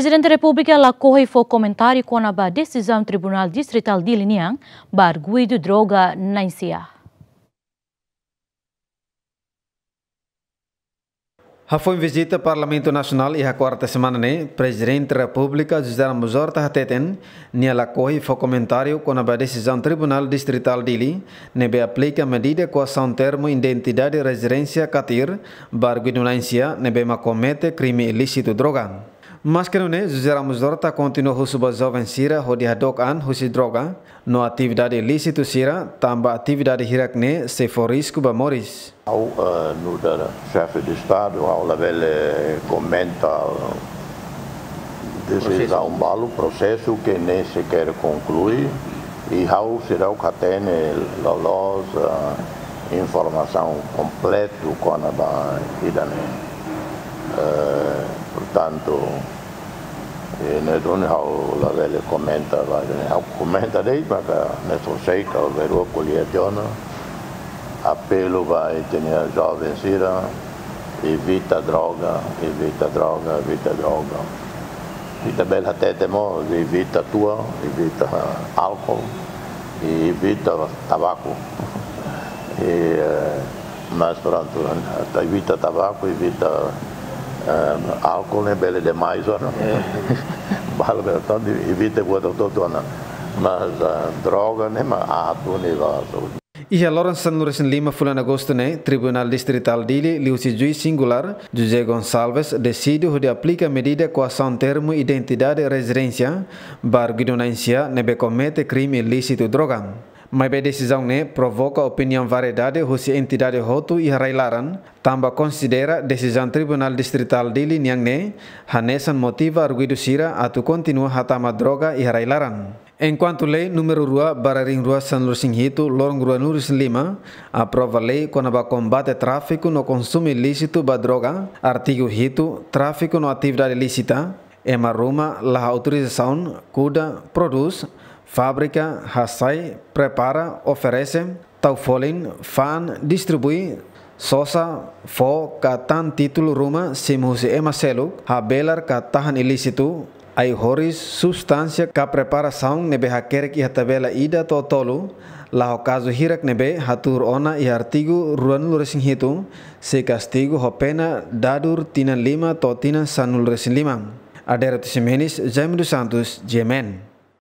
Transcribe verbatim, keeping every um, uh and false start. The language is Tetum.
Prezidente Repúblika lakohi fó komentáriu kona-ba desizaun Tribunál Distritál Dili nian ba arguidu droga na'in-sia. Hafoin vizita Parlamentu Nasionál iha kuarta semana ne'e, Prezidente Repúblika José Ramos Horta hateten, nia lakohi fó komentáriu kona-ba desizaun Tribunál Distritál Dili ne'ebé aplika medida koasaun termu identidade rezidénsia katir ba arguidu na'in-sia ne'ebé mak komete krime ilísitu droga. Maske nune'e, José Ramos Horta kontinua husu ba joven sira hodi hadook an husi droga no atividade ilísitu sira, tanba atividade hirak ne'e sei fó risku ba moris. Ha'u, eh, nu'udar Xefe de Estadu, ha'u labele komenta desizaun balu, prosesu ke nem sequer konklui, i ha'u seidauk hatene loloos, eh, informasaun kompletu kona-ba ida-ne'e. Eh, portantu, eh, ne'e duni ha'u labele komenta ba ida-ne'e. Ha'u komenta de'it maka ne'e só sei ka verua ko'alia tiha ona. Apelu ba ita-nia joven sira, evita droga, evita droga, evita droga. Ita bele hatete mós, evita tua, evita álkol, i evita tabaku. I, eh, mas prontu, ita evita tabaku, evita, eh, álkol ne'e bele demais, não? Balu bele, entaun, evita buat hotu-hotu, não? Mas, eh, droga ne'e mak aat duni ba saúde. Iha loron sanulu-resin-lima fulan Agostu ne'e, Tribunál Distritál Dili liuhusi juís singulár, José Gonçalves, deside hodi aplika medida koasaun termu identidade rezidénsia ba arguidu na'in-sia ne'ebé komete krime ilísitu droga. Maibé desizaun ne'e provoka opiniaun variedade husi entidade hotu iha rai-laran, tanba konsidera desizaun Tribunál Distritál Dili nian ne'e hanesan motiva arguidu sira atu kontinua hatama droga iha rai-laran. Enkuantu lei númeru rua barra neen rua sanulu-resin-hitu, loron ruanulu-resin-lima, aprova lei kona-ba kombate tráfiku no konsumu ilísitu ba droga, artigu hitu, tráfiku no atividade ilísita, ema ruma la autorizasaun, kuda, prodús, fábrika, hasai, prepara, oferese, tau folin, fa'an, distribui, sosa, fó ka tan títulu ruma simu husi ema seluk, habelar ka tahan ilísitu, ai-horis, substánsia ka preparasaun ne'ebé hakerek iha tabela ida to'o tolu, la ho kazu hirak ne'ebé hatuur ona iha artigu ruanulu-resin-hitu, sei kastigu ho pena dadur tinan lima to'o tinan sanulu-resin-lima. Adérito Ximenes, Jaime dos Santos, G M N.